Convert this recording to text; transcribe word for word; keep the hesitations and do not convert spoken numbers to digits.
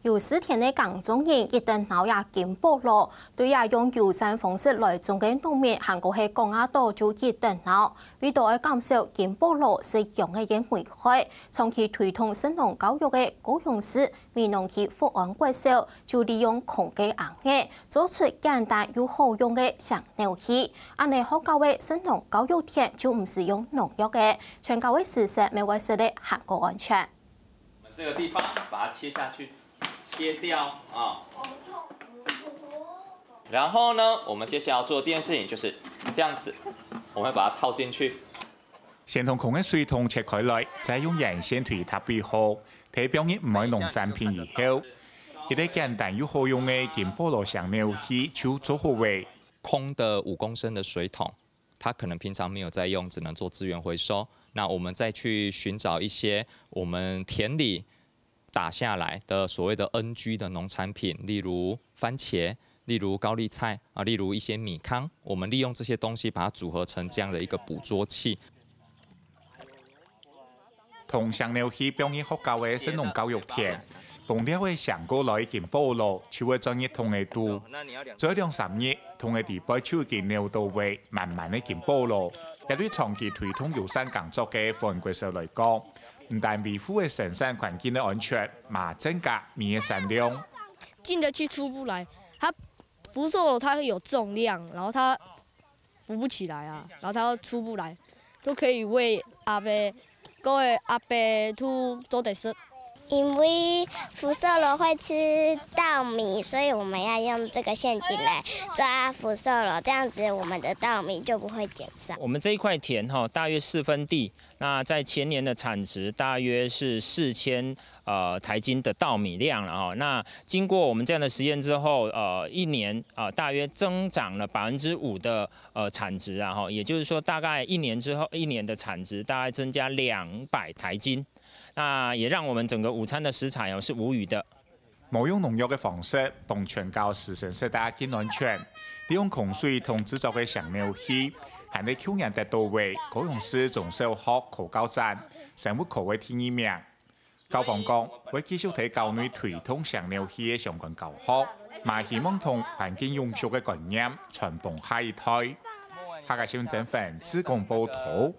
有時田个耕種人一等惱這金寶螺，對這用友善方式來種个農民還過係講啊多就一等惱。為著愛減少金寶螺食用个危害，長期推動食農教育个高雄市美濃區福安國小就利用空个空間，做出簡單又好用个石鳥器。恁呢學校个食農教育田就毋使用農藥个，全校个食食乜會食得還過安全。我們這個地方把它切下去，切掉啊。然後呢，我們接下來要做的第一件事情就是這樣子，我們會把它套進去。先同空个水桶切開來，再用鉛線推搭位好，忒放入毋愛農產品以後，一個簡單又好用个金寶螺石鳥器就做好了。空的五公升的水桶，它可能平常没有在用，只能做资源回收。那我们再去寻找一些我们田里打下来的所谓的NG的农产品，例如番茄，例如高丽菜啊，例如一些米糠，我们利用这些东西把它组合成这样的一个捕捉器。同石鳥器放入學校个食農教育田，放了个成過來个金寶螺就會鑽入桶个肚，做兩三日，桶个底背就已經扭到位滿滿个金寶螺。這對長期推動友善耕作个福安國小來講，毋但維護个生產環境个安全，嘛增加米个產量。进得去出不来，它福寿螺它有重量，然后它浮不起来啊，然后它出不来，都可以喂阿伯，各位阿伯都做得食。因为福寿螺会吃稻米，所以我们要用这个陷阱来抓福寿螺，这样子我们的稻米就不会减少。我们这一块田哈，大约四分地，那在前年的产值大约是四千呃台斤的稻米量了哈。那经过我们这样的实验之后，呃，一年呃大约增长了百分之五的呃产值啊哈，也就是说大概一年之后，一年的产值大概增加两百台斤。 那也让我们整个午餐的食材哦是无虞的。無用農藥个方式，幫全校師生食得更安全。利用空水同製作个石鳥器，還係舊年得到个高雄市中小學科教展生物科个第二名。校方講，會繼續在校內推動石鳥器个相關教學，嘛希望同環境永續个觀念傳播下一代。客家新聞曾粉自工報導。